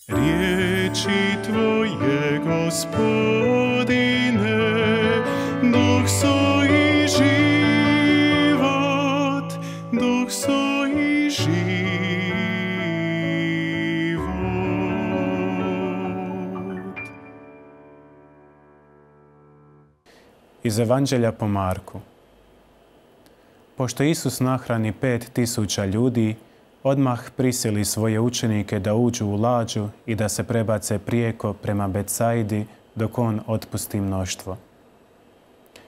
Riječi Tvoje, Gospodine, duh su i život, duh su i život. Iz Evanđelja po Marku. Pošto Isus nahrani 5.000 ljudi, odmah prisili svoje učenike da uđu u lađu i da se prebace prijeko prema Betsaidi dok on otpusti mnoštvo.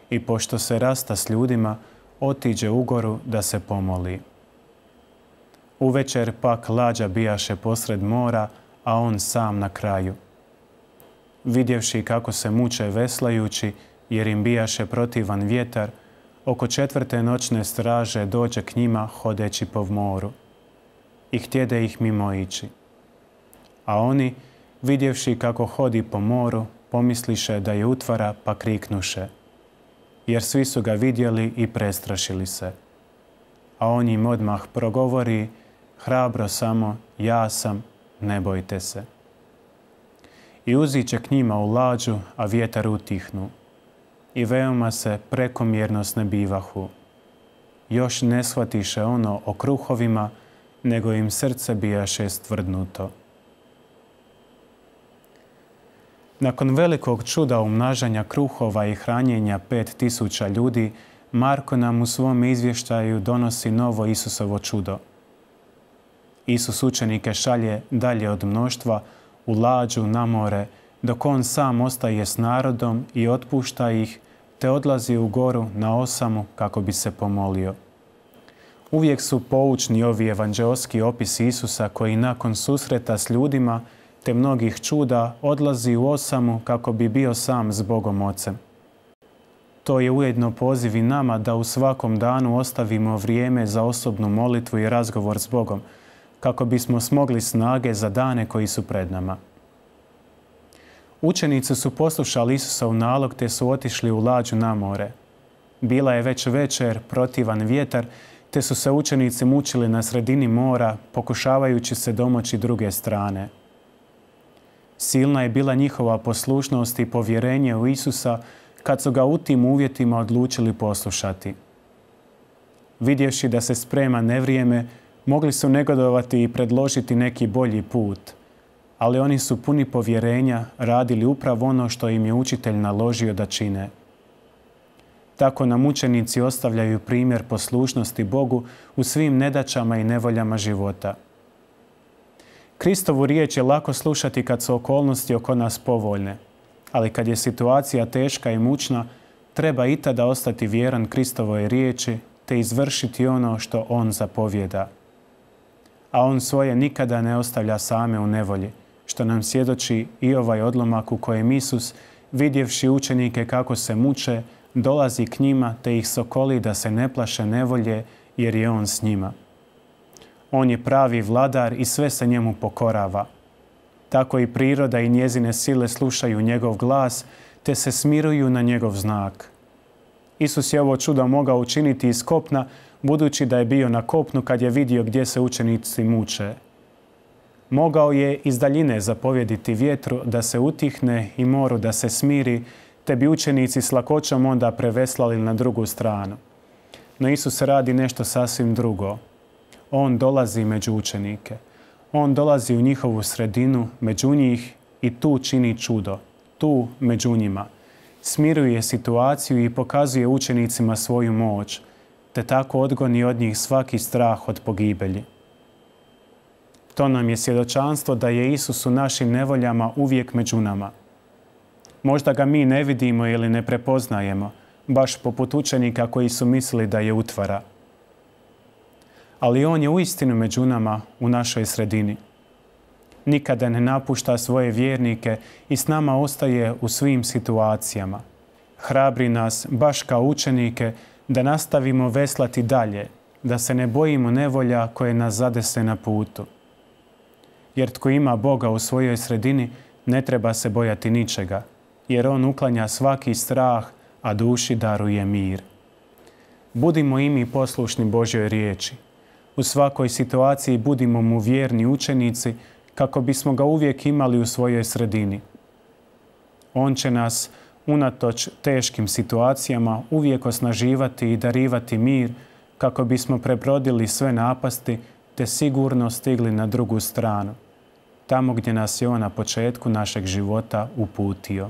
I pošto se rasta s ljudima, otiđe u goru da se pomoli. Uvečer pak lađa bijaše posred mora, a on sam na kraju. Vidjevši kako se muče veslajući, jer im bijaše protivan vjetar, oko 4. noćne straže dođe k njima hodeći po moru i htjede ih mimoići. A oni, vidjevši kako hodi po moru, pomisliše da je utvara, pa kriknuše, jer svi su ga vidjeli i prestrašili se. A on im odmah progovori, hrabro samo, ja sam, ne bojte se. I uziće k njima u lađu, a vjetar utihnu. I veoma se prekomjerno snebivahu. Još ne shvatiše ono o kruhovima, nego im srce bijaše stvrdnuto. Nakon velikog čuda umnažanja kruhova i hranjenja 5.000 ljudi, Marko nam u svom izvještaju donosi novo Isusovo čudo. Isus učenike šalje dalje od mnoštva u lađu na more, dok on sam ostaje s narodom i otpušta ih, te odlazi u goru na osamu kako bi se pomolio. Uvijek su poučni ovi evanđeoski opisi Isusa koji nakon susreta s ljudima te mnogih čuda odlazi u osamu kako bi bio sam s Bogom Ocem. To je ujedno poziv i nama da u svakom danu ostavimo vrijeme za osobnu molitvu i razgovor s Bogom, kako bismo smogli snage za dane koji su pred nama. Učenici su poslušali Isusov nalog te su otišli u lađu na more. Bila je već večer, protivan vjetar, te su se učenici mučili na sredini mora, pokušavajući se domoći druge strane. Silna je bila njihova poslušnost i povjerenje u Isusa kad su ga u tim uvjetima odlučili poslušati. Vidjevši da se sprema nevrijeme, mogli su negodovati i predložiti neki bolji put, ali oni su puni povjerenja radili upravo ono što im je učitelj naložio da čine. Tako nam učenici ostavljaju primjer poslušnosti Bogu u svim nedaćama i nevoljama života. Kristovu riječ je lako slušati kad su okolnosti oko nas povoljne, ali kad je situacija teška i mučna, treba i tada ostati vjeran Kristovoj riječi te izvršiti ono što on zapovijeda. A on svoje nikada ne ostavlja same u nevolji, što nam svjedoči i ovaj odlomak u kojem Isus, vidjevši učenike kako se muče, dolazi k njima te ih sokoli da se ne plaše nevolje, jer je on s njima. On je pravi vladar i sve se njemu pokorava. Tako i priroda i njezine sile slušaju njegov glas, te se smiruju na njegov znak. Isus je ovo čudo mogao učiniti iz kopna, budući da je bio na kopnu kad je vidio gdje se učenici muče. Mogao je iz daljine zapovjediti vjetru da se utihne i moru da se smiri, te bi učenici s lakoćom onda preveslali na drugu stranu. No Isus radi nešto sasvim drugo. On dolazi među učenike. On dolazi u njihovu sredinu, među njih i tu čini čudo. Tu, među njima. Smiruje situaciju i pokazuje učenicima svoju moć, te tako odgoni od njih svaki strah od pogibelji. To nam je svjedočanstvo da je Isus u našim nevoljama uvijek među nama. Možda ga mi ne vidimo ili ne prepoznajemo, baš poput učenika koji su mislili da je utvara. Ali on je uistinu među nama u našoj sredini. Nikada ne napušta svoje vjernike i s nama ostaje u svim situacijama. Hrabri nas, baš kao učenike, da nastavimo veslati dalje, da se ne bojimo nevolja koje nas zadese na putu. Jer tko ima Boga u svojoj sredini, ne treba se bojati ničega, jer on uklanja svaki strah, a duši daruje mir. Budimo i mi poslušni Božjoj riječi. U svakoj situaciji budimo mu vjerni učenici, kako bismo ga uvijek imali u svojoj sredini. On će nas, unatoč teškim situacijama, uvijek osnaživati i darivati mir kako bismo prebrodili sve napasti te sigurno stigli na drugu stranu, tamo gdje nas je on na početku našeg života uputio.